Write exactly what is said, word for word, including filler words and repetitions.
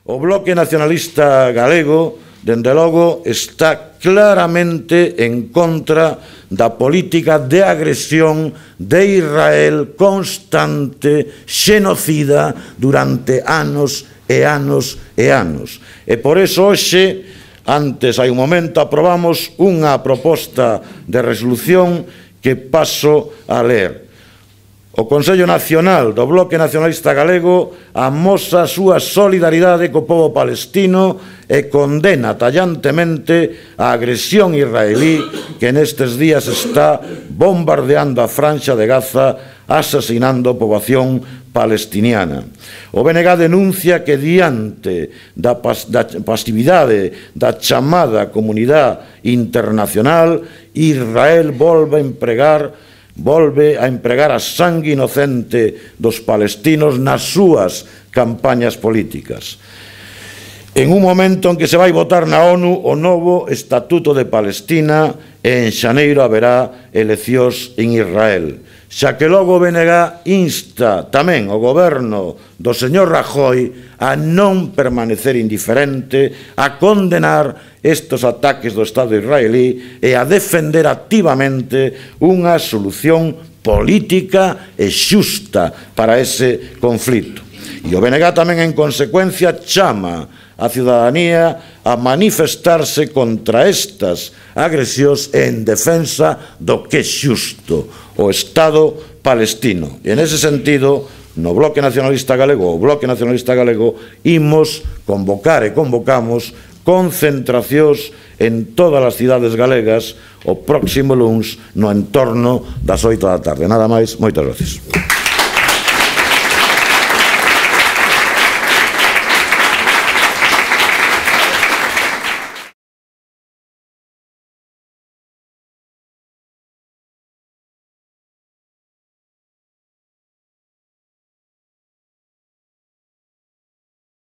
O Bloque Nacionalista Galego, dende logo, está claramente en contra da política de agresión de Israel constante, xenocida, durante anos e anos e anos. E por eso hoxe, antes, hai un momento, aprobamos unha proposta de resolución que paso a ler. O Consello Nacional do Bloque Nacionalista Galego amosa a súa solidaridade co pobo palestino e condena tallantemente a agresión israelí que nestes días está bombardeando a Franxa de Gaza, asesinando a poboación palestiniana. O B N G denuncia que diante da, pas da pasividade da chamada comunidade internacional, Israel volve a empregar volve a empregar a sangue inocente dos palestinos nas súas campañas políticas. En un momento en que se vai votar na ONU o novo Estatuto de Palestina e en xaneiro haberá eleccións en Israel. Xa que logo o B N G insta tamén o goberno do señor Rajoy a non permanecer indiferente, a condenar estes ataques do Estado israelí e a defender activamente unha solución política e xusta para ese conflito. E o B N G tamén, en consecuencia, chama a ciudadanía a manifestarse contra estas agresións en defensa do que é xusto, o Estado palestino. E, en ese sentido, no Bloque Nacionalista Galego, o Bloque Nacionalista Galego, imos convocar e convocamos concentracións en todas as cidades galegas o próximo luns no entorno das oito da tarde. Nada máis, moitas gracias.